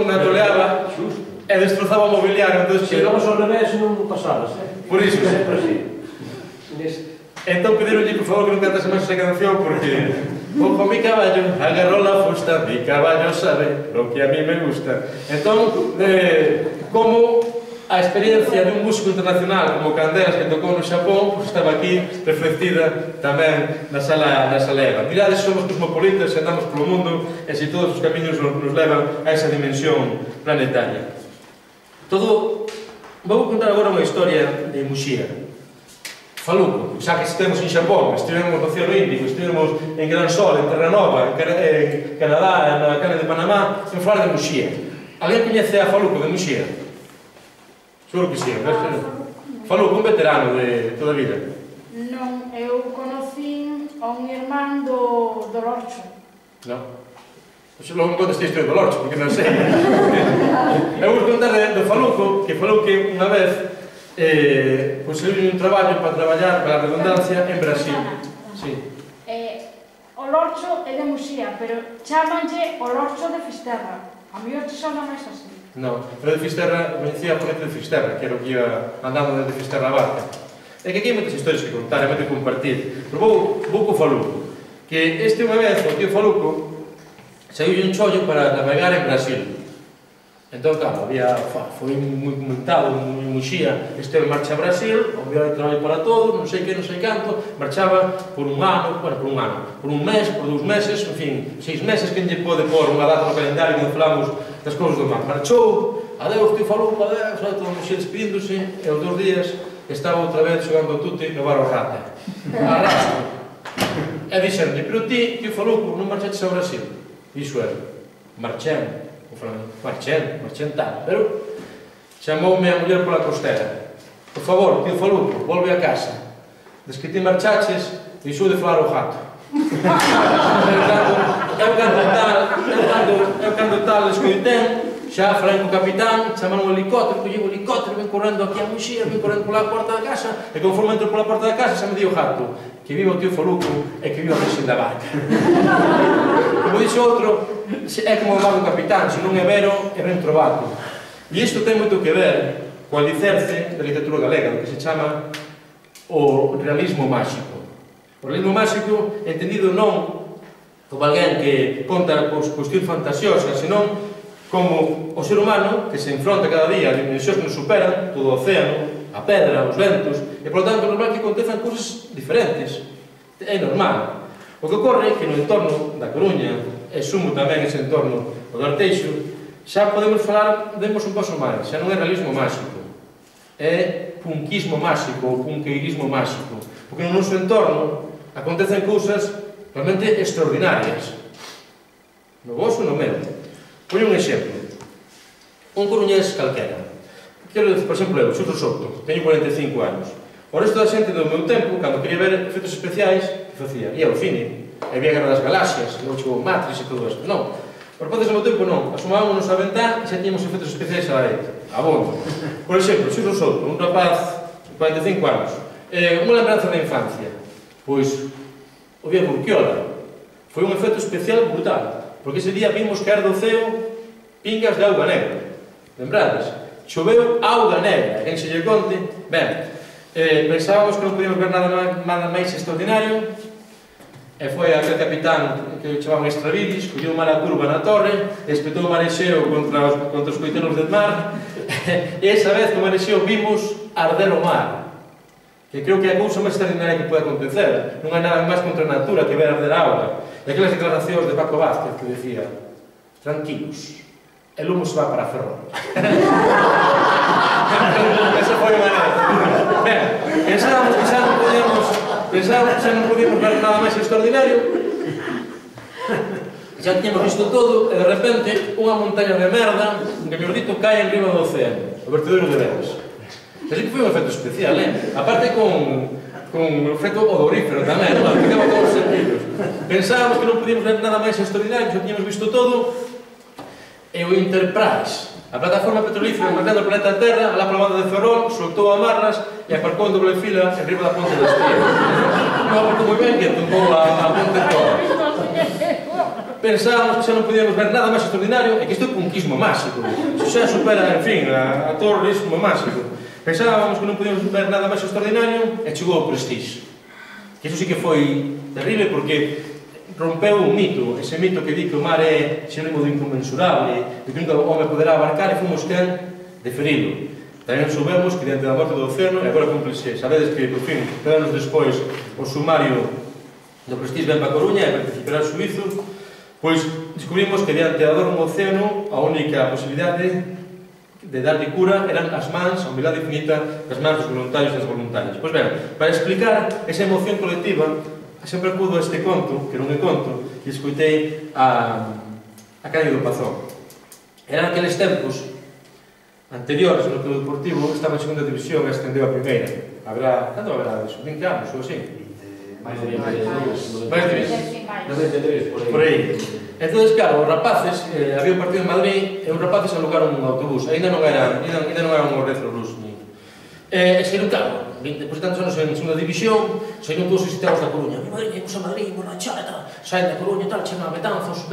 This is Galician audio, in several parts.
na toleaba e destrozaba o mobiliario. Se llegamos ao revés non pasabas, Por iso. sempre así. Entón pedironlle, por favor, que non cantase máis esa canción, porque ojo mi caballo, agarró la fusta, mi caballo sabe lo que a mí me gusta. Entón, como a experiencia dun músico internacional como Candelas, que tocou no Xapón, pues estaba aquí reflectida tamén na sala EVA. Mirades, somos cosmopolitas, andamos polo mundo, e se todos os camiños nos levan a esa dimensión planetaria. Vou contar agora unha historia de Muxía. Faluco, xa que estivemos en Xapón, estivemos no Océano Índico, estivemos en Gran Sol, en Terra Nova, en Canadá, na Cana de Panamá, en falar de Muxía. Alguén coñece a Faluco de Muxía? Seguro que sí, Faluco, un veterano de toda a vida. Non, eu conocí a un irmán do Lorcho. Non? Logo me contas a historia do Lorcho, porque non sei. Eu vou contar do Faluco, que falou que unha vez conseguiu un traballo para traballar, para a redundancia, en Brasil. Sí. O Lorcho é de Muxía, pero chámanlle o Lorcho de Fisterra. A mí o te sona máis así. Non, pero de Fisterra, coñecía a ponente de Fisterra, que era o que iba andando desde Fisterra a Barca. É que aquí hai moitas historias que contar, e moito que compartir. Pero vou co Faluco, que este unha vez, o tío Faluco, saiu un chollo para navegar en Brasil. Entón, claro, foi moi comentado en Muxía, esteve en marcha a Brasil, o viaje de traballo para todos, non sei que, non sei canto, marchaba por un ano, por un mes, por 2 meses, en fin, 6 meses, que lle pode pôr unha data no calendario que falamos das cousas do mar. Marchou, adeus, tío Faluco, adeus, todo Muxía despedíndose, e os 2 días estaba outra vez xogando tute no bar o Rata. Arrastro. E dixenlle, pero ti, tío Faluco, non marchaches a Brasil? Iso era, marchemos. Marchen tal, pero chamoume a muller pola costera. Por favor, tío Faluco, volve a casa. Des que ti marchaches, deixou de falar o gato. Eu cando tal escoitén, xa falei co capitán, chamaron o helicóptero, collei o helicóptero, ven correndo aquí a Muxía, ven correndo pola porta da casa, e conforme entro pola porta da casa, xa me di o gato, que viva o tío Faluco e que viva a Rexen da Barca. Como dixo outro, é como o mar do capitán, se non é vero, é ben trobado. E isto ten moito que ver co alicerce da literatura galega, do que se chama o realismo máxico. O realismo máxico, entendido non como alguén que conta cuestións fantasiosas, senón como o ser humano que se enfronta cada día a dimensións que nos superan, todo o océano, a pedra, os ventos, e, por lo tanto, é normal que acontezan cousas diferentes. É normal. O que ocorre é que no entorno da Coruña, e sumo tamén ese entorno o do Arteixo, xa podemos falar, demos un paso máis, xa non é realismo máxico, é punquismo máxico ou punqueirismo máxico, porque no noso entorno acontecen cousas realmente extraordinarias, no vosso no meu. Poño un exemplo, un coruñés calquera, quero decir, por exemplo, eu, Xurro Soto, teño 45 anos, o resto da xente do meu tempo, cando quería ver efectos especiais, que facía? Ia ao cine, e vía Guerra das Galaxias, logo chegou Matrix e todo isto. Non, por partes do meu tempo non, asomámonos a ventá e xa tiñamos efectos especiais a dereita, a bondo. Por exemplo, Xurro Soto, un rapaz de 45 anos, unha lembranza da infancia, pois o día de Urquiola, foi un efecto especial brutal, porque ese día vimos caer do ceo pingas de auga negra, lembrades? Choveu auga negra, quen se lle conte, ben, pensábamos que non podíamos ver nada máis extraordinario, e foi aquel capitán que chamaban Estravilis, colleu mala curva na torre, espetou o marexeo contra os coitelos del mar, e esa vez no marexeo vimos arder o mar, que creo que é a cousa máis extraordinaria que pode acontecer. Non hai nada máis contra a natura que ver arder a auga. E aquelas declaracións de Paco Vázquez que decía: tranquilos, el humo se va para Ferrol. Esa foi unha maneira. Ben, pensábamos que xa non podíamos ver nada máis extraordinario, xa tiñamos visto todo, e de repente unha montaña de merda, un camiordito cae en riba do océano, o vertedero de Veras. Así que foi un efecto especial, aparte con un efecto odorífero tamén, ficaba todos os sentidos. Pensábamos que non podíamos ver nada máis extraordinario, xa tiñamos visto todo, e o Enterprise, a plataforma petrolífera marcando o planeta Terra, alá pola banda de Ferrol, soltou amarras e aparcou en doble fila en riba da ponte das Tías. Non aparcou moi ben que tocou a ponte toda. pensábamos que xa non podíamos ver nada máis extraordinario e que isto é un quismo máxico. Isto xa supera, en fin, a terrorismo máxico. Pensábamos que non podíamos ver nada máis extraordinario e chegou o Prestige. Que iso sí que foi terrible porque rompeu un mito, ese mito que di que o mar é sinónimo do inconmensurable, de que nunca o home poderá abarcar e fomos quen de ferilo. Tamén soubemos que diante da morte do océano, e agora cúmplese, sabedes que, por fin, 3 anos despois, o sumario do Prestige ven para Coruña e participará ao suizo, pois descubrimos que diante da dor no océano a única posibilidade de darlle cura eran as mans, a humildade infinita das mans dos voluntarios e das voluntarias. Pois ben, para explicar esa emoción colectiva, sempre acudo a este conto, que non é conto, e escoitei a Cándido Pazón. Eran aqueles tempos anteriores no club deportivo, estaba en segunda división e ascendeu a primeira. Cando haberá eso? 20 anos ou así? Máis de 20. Máis de 93, 20. por aí. Entón, claro, os rapaces, había un partido en Madrid e os rapaces alugaron un autobús, ainda non eran un Retro Blues e saíron, claro, depois de tantos anos en segunda división, saíron todos os visitados da Coruña. Mi madriña, imos a Madrid, borrachar e tal, saen da Coruña e tal, chegan a Betanzos,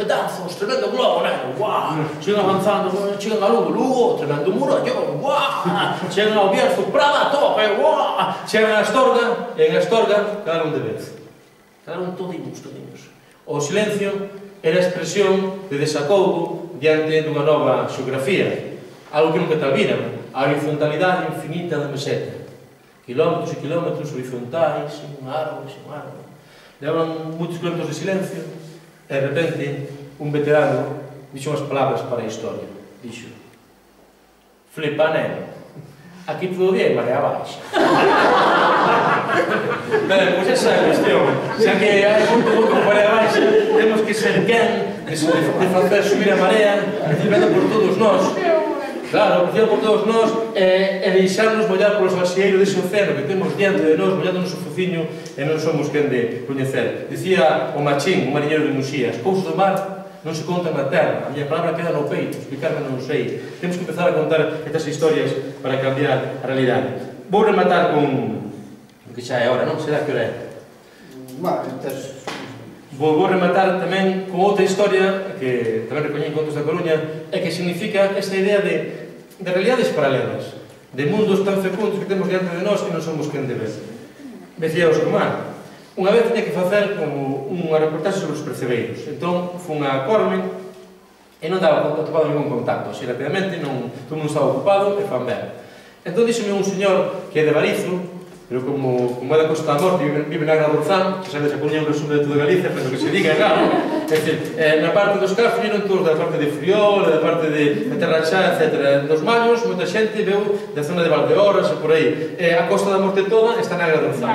tremendo globo, neno, guau, chegan avanzando, chegan a Lugo, tremendo murallón, guau, chegan ao Bierzo, Prada, tope, guau, chegan a Astorga, e en Astorga quedaron de vez, quedaron todiños. O silencio era a expresión de desacougo diante dunha nova xeografía, algo que nunca tal viran, a horizontalidade infinita da meseta. Kilómetros e kilómetros horizontais, sin un árbol. Levaban moitos kilómetros de silencio e, de repente, un veterano dixo unhas palabras para a historia. Dixo: flipa, neno, aquí todo bien, marea baixa. Ben, pois esa é a cuestión. Xa que hai moito con marea baixa, temos que ser quen de facer subir a marea, recibendo por todos nós. Claro, recibendo por todos nós e deixarnos mollar polos vaxieiro dese océano que temos diante de nós, mollando o noso fociño e non somos quen de coñecer. Dicía o Machín, un mariñeiro de Muxía: as cousas do mar non se contan na terra, a miña palabra queda no peito, explicarme non sei. Temos que empezar a contar estas historias para cambiar a realidade. Vou rematar con o que xa é hora, non? Será que hora é? Vou rematar tamén con outra historia que tamén recoñei en Contos da Coruña e que significa esta idea de realidades paralelas, de mundos tan fecundos que temos diante de nós e non somos quen de ver. Decía o Oscar, unha vez tiña que facer como unha reportaxe sobre os percebeiros, entón fun a Corme e non daba atopado ningún contacto, así rapidamente, todo mundo estaba ocupado e fan ben. Entón díxome un señor que é de Barizo, pero como é da Costa da Morte, vive na Gran Borzán, que sabes, a Coruña é un resumo de toda Galicia, pero que se diga, claro. É dicir, na parte dos Castros viron todos da parte de Friol, da parte de Terrachá, etc. Dos Mallos, moita xente veu da zona de Valdeorras e por aí. A Costa da Morte toda está na Gran Borzán.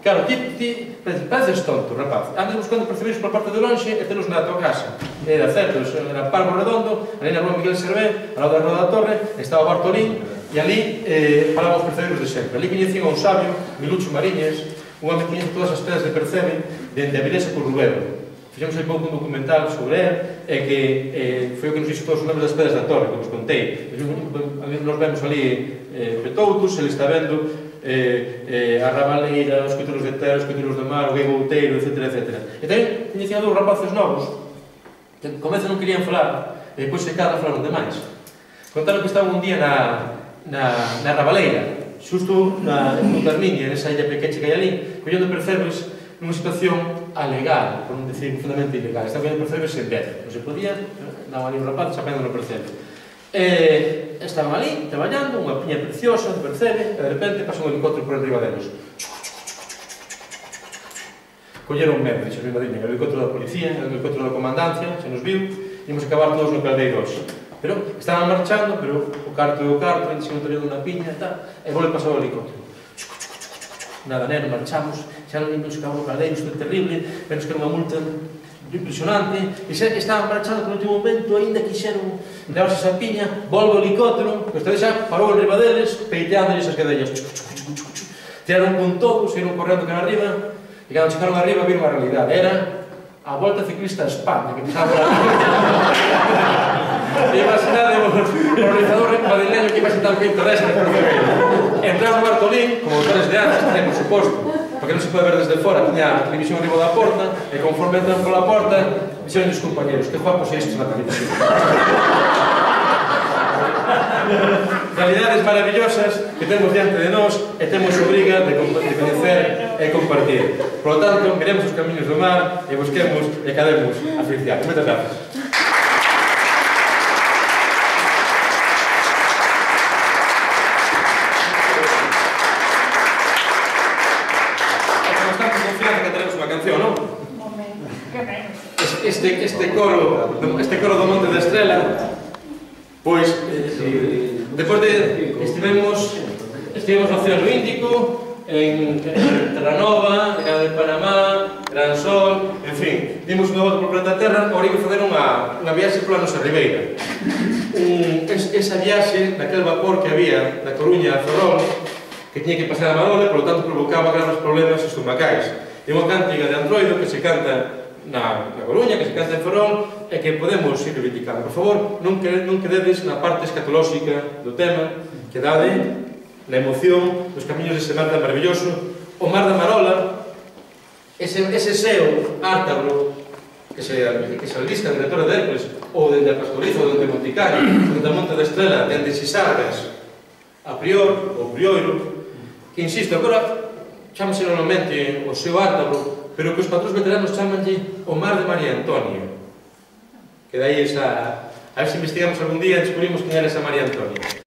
Claro, ti pareces tonto, rapaz. Andas buscando percebeiros por parte de lonxe e telos na tua casa. Era certo, era Parvo Redondo, ali na rúa Miguel Servé, ao lado da Rua da Torre, estaba Bartolín, e ali falaban os percebeiros de sempre. Ali coñecían a un sabio, Milucho Mariñas, un home que coñece todas as pedras de Percebe, dende a Vilesa por Rubero. Fixemos aí pouco un documental sobre él, e que foi o que nos dixo todos os nombres das pedras da torre, que vos contei. Nos vemos ali Petoutos, ele está vendo a Rabaleira, os coituros de terra, os coituros de mar, o Guegouteiro, etc. E tamén coñecían dous rapaces novos, que comeza non querían falar, e depois se cada falaron demais. Contaron que estaban un día na Rabaleira, xusto no Carmiña, nesa illa pequecha que hai ali, collendo percebes nunha situación alegal, por non decir profundamente ilegal. Estaban collendo percebes en vez, non se podía, daban ali un rapaz chapendo no percebe. Estaban ali, traballando, unha piña preciosa de percebe, e de repente pasa un helicóptero por enriba deles. Colleron medo, dixo mi madriña, o helicóptero da policía, o helicóptero da comandancia, se nos viu, ímos acabar todos no caldeiro hoxe. Pero estaban marchando, pero o carto e o carto, ainda se non tenían unha piña e tal, e volve pasar o helicóptero. Nada, neno, marchamos, xa non nos acabou o caldeiro, isto é terrible, pero que era unha multa impresionante, e xa que estaban marchando por último momento, ainda quixeron levarse esa piña, volve o helicóptero, que esta vez xa parou en riba deles, peiteándoles as cadellas, tiraron con todo, saíron correndo cara arriba, e cando chegaron arriba viron a realidade, era a Volta Ciclista a España, que empezaba por aquí. E imaginade o organizador madrileño que iba a sentar o quinto desa de percebeiro. Entraron no Bartolín, como autores de antes, por suposto, porque non se pode ver desde fora, tiña a televisión arriba da porta, e conforme entran pola porta, dixeron os compañeros, que guapos é estes na televisión. Realidades maravillosas que temos diante de nós e temos obriga de conocer e compartir. Por lo tanto, miremos os camiños do mar e busquemos e cademos a felicidade. Moitas gracias. Este coro do Monte da Estrela, pois, depois de estivemos no Océano Índico, en Terranova, en de Panamá, Gran Sol, en fin, dimos unha volta por planeta Terra, agora que fazer unha viaxe pola nosa ribeira. Esa viaxe, naquele vapor que había da Coruña a Ferrol, que tiña que pasar a Marola, por lo tanto provocaba graves problemas estomacais. É unha cántiga de Androido que se canta na Coruña, que se canta en Ferrol, e que podemos ir reivindicando. Por favor, non quededes na parte escatolóxica do tema, quedade na emoción dos camiños dese mar tan maravilloso. O mar da Marola, ese seo ártabro que se alista dende a Torre de Hércules, ou dende a Pastoriza, ou dende Monticario, dende a Monte da Estrela, dende Sisargas, a Prior, ou Prioiro, que, insisto, agora chámase normalmente o seo ártabro, pero que os patrós veteranos chamanlle o mar de María Antonia. Que dai esa... A ver se investigamos algún día e descubrimos quen era esa María Antonia.